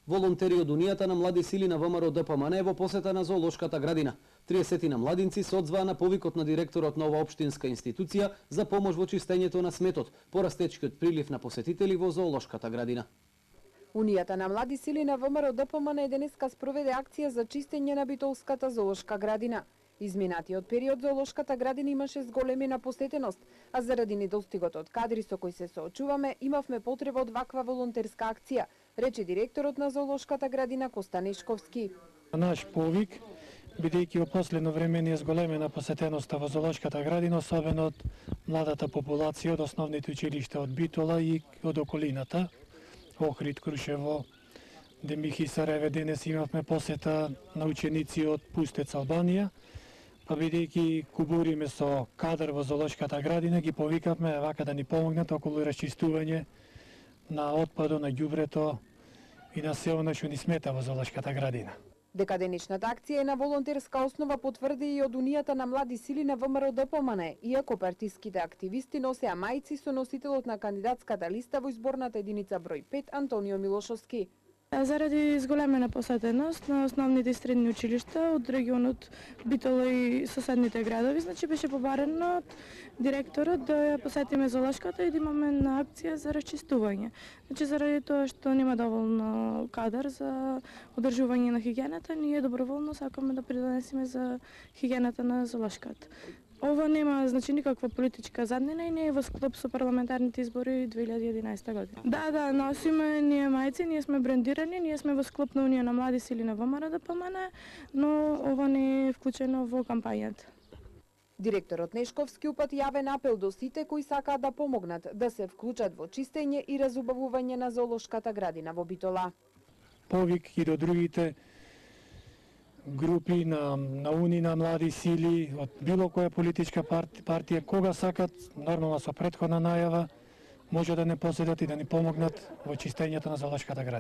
Волонтери од Унијата на млади сили на ВМРО ДПМН во посета на зоолошката градина. 30 на младинци се одзваа на повикот на директорот на ова општинска институција за помош во чистењето на сметот, по растечкиот прилив на посетители во зоолошката градина. Унијата на млади сили на ВМРО ДПМН денеска спроведе акција за чистење на Битолската зоолошка градина. Изминатиот период зоолошката градина имаше зголемена посетеност, а заради недостигот од кадри со кои се соочуваме, имавме потреба од ваква волонтерска акција, рече директорот на зоолошката градина Коста Нешковски. Наш повик, бидејќи во последно време ни е зголемена посетеноста во зоолошката градина, особено од младата популација од основните училишта од Битола и од околината, Охрид, Крушево, Демих и Сараево. Денес имавме посета на ученици од Пустец, Албанија, па бидејќи кубуриме со кадар во зоолошката градина, ги повикавме вака да ни помогнат околу расчистување на отпадот, на ѓубрето и на се она што ни смета во зоолошката градина. Дека денешната акција е на волонтерска основа потврди и од Унијата на млади сили на ВМРО ДПМН, иако партиските активисти носеа мајци со носителот на кандидатската листа во изборната единица број 5 Антонио Милошовски. Заради зголемена посетеност на основните средни училишта од регионот Битола и соседните градови, значи беше побарено од директорот да ја посетиме зоолошката и да имаме на акција за расчистување. Значи заради тоа што нема доволно кадар за одржување на хигиената, ние доброволно сакаме да придонесеме за хигиената на зоолошката. Ова нема никаква политичка заднина и не е во склоп со парламентарните избори 2011 година. Да, носиме ние мајци, ние сме брендирани, ние сме во склоп на Унија на млади сили на ВМРО ДПМН, но ова не е вклучено во кампањата. Директорот Нешковски упати јавен апел до сите кои сакаат да помогнат да се вклучат во чистење и разубавување на зоолошката градина во Битола. Повик и до другите групи на Уни на млади сили од било која политичка партија, кога сакат, нормално со претходна најава, може да не поседат и да ни помогнат во чистењето на зоолошката градина.